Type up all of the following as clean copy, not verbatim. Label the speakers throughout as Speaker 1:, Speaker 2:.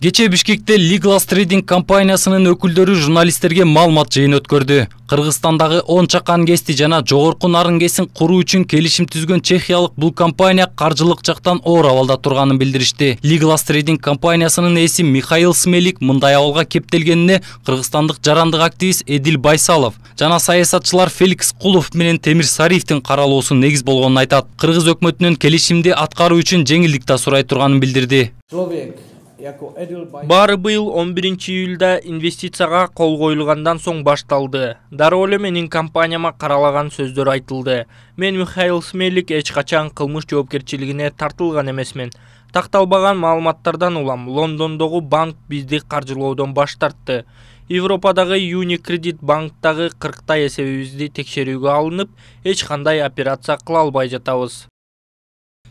Speaker 1: Кече Бишкекте Legal Trading компаниясынын өкүлдөрү журналисттерге маалымат жыйын өткөрдү. Кыргызстандагы 10 чакан кести жана жогорку нарын кесин куруу үчүн келишим түзгөн чехиялык бул компания каржылык жактан оор абалда турганын билдиришти. Legal Trading компаниясынын ээси Михаил Смелик мындай абалга кептелгенине кыргызстандык жарандык активист Эдил Байсалов жана саясатчылар Феликс Кулов менен Темир Сариевдин каралуусу негиз болгонун айтат. Кыргыз өкмөтүнүн келишимди аткаруу үчүн жеңилдик да сурай турганын билдирди.
Speaker 2: Баары быйыл 11 июлда инвестицияга кол коюлгандан соң башталды. Дароо эле менин компанияма каралаган сөздөр айтылды. Мен Михаил Смелик эч качан кылмыш жоопкерчилигине тартылган эмесмин. Такталбаган маалыматтардан улам Лондондогу банк бизди каржылоодон баш тартты. Европадагы Unicredit банктагы 40 эсебибизди текшерүүгө алынып, эч кандай операция кыла албай жатабыз.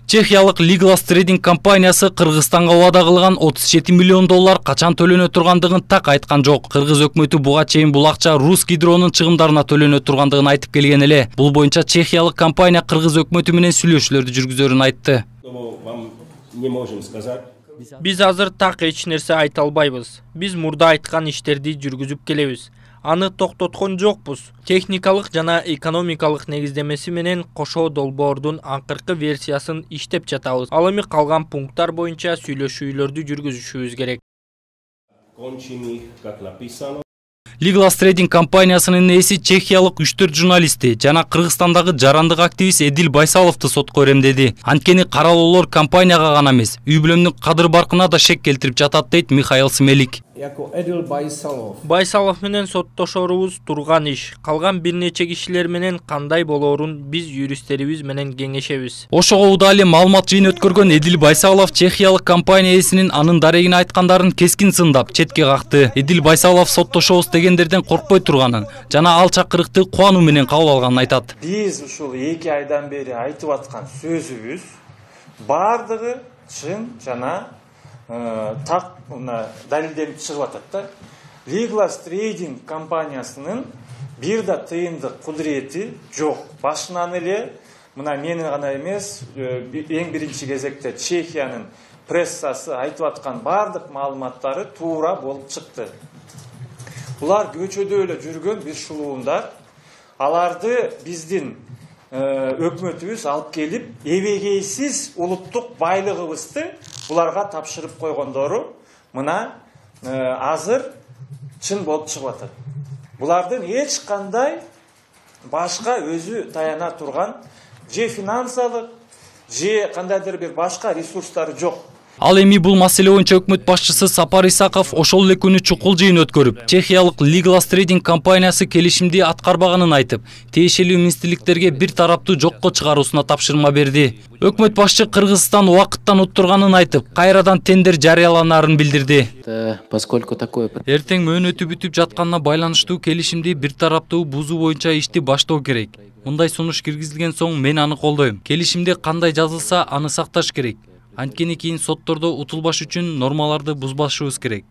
Speaker 1: Чехиялык Legal Trading компаниясы Кыргызстанга убада кылган 37 миллион доллар качан төлөнө тургандыгын так айткан жок. Кыргыз өкмөтү буга чейин бул акча Русгидронун чыгымдарына төлөнө тургандыгын айтып келген эле. Бул боюнча чехиялык компания Кыргыз өкмөтү менен сүйлөшүүлөрдү жүргүзөрүн айтты.
Speaker 2: Биз азыр так эч нерсе айта албайбыз. Биз мурда айткан иштерди жүргүзүп келебиз. Аны токтоткон жокпуз. Техникалык жана экономикалык негиздемеси менен кошо долбоордун акыркы версиясын иштеп жатабыз. Ал эми калган пункттар боюнча сүйлөшүүлөрдү жүргүзүшүбүз керек.
Speaker 1: Legal Trading компаниясынын ээси чехиялык 3-4 журналисти жана Кыргызстандагы жарандык активист Эдил Байсаловду сотко беремдеди. Анткени каралоолор компанияга гана эмес, үй бүлөмдүн кадыр баркына да шек келтирип жатат дейт Михаил Смелик.
Speaker 2: Байсалов менен соттошорубуз турган иш. Калган бир нече кишилер менен кандай болоорун биз юристтерибиз менен кеңешебиз.
Speaker 1: Ошого удаа эле маалымат жыйын өткөргөн Эдил Байсалов чехиялык компания ээсинин анын дарегине айткандарын кескин сындап, четке какты. Эдил Байсалов соттошобуз дегендерден коркпой турганын жана ал чакырыкты кубануу менен кабыл алганын айтат.
Speaker 3: Биз ушул 2 айдан бери айтып аткан сөзүбүз бардыгы чын жана так далилденип чыгып атат да. Legal Trading компаниясынын бир да тыйындык кудурети жок. Башынан эле мына менин гана эмес, эң биринчи кезекте Чехиянын прессасы айтып аткан бардык маалыматтары туура болуп чыкты. Булар көчөдө эле жүргөн бир шулуундар. Аларды биздин өкмөтүбүз алып келип, эбегейсиз улуттук байлыгыбызды буларга тапшырып койгондору мына азыр чын болуп чыгып атат. Булардын эч кандай башка өзү таяна турган же финансылык, же кандайдыр бир башка ресурстары жок.
Speaker 1: Ал эми бул маселе боюнча өкмөт башчысы Сапар Исаков ошол эле күнү чукул жыйын өткөрүп, чехиялык Legal Trading компаниясы келишимди аткарбаганын айтып, тиешелүү министрликтерге бир тараптуу жокко чыгаруусуна тапшырма берди. Өкмөт башчы Кыргызстан убакыттан уттурганын айтып, кайрадан тендер жарыяланарын билдирди. Эртең мөөнөтү бүтүп жатканына байланыштуу келишимди бир тараптуу бузуу боюнча ишти баштоо керек. Мындай сунуш киргизилген соң мен аны колдойм. Келишимде кандай жазылса, аны сакташ керек. Анткени кийин соттордо утулбаш үчүн нормаларды бузбашыбыз керек.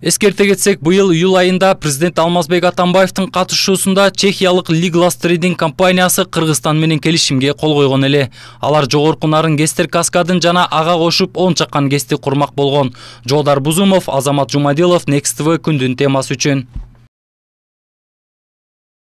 Speaker 1: Эскерте кетсек, быйыл июль айында президент Алмазбек Атамбаевдин катышуусунда чехиялык Legal Trading компаниясы Кыргызстан менен келишимге кол койгон эле. Алар жогорку нарын кестер каскадын жана ага кошуп 10 чакан кести курмак болгон. Жолдар Бузумов, Азамат Жумадилов, Next TV күндүн темасы үчүн.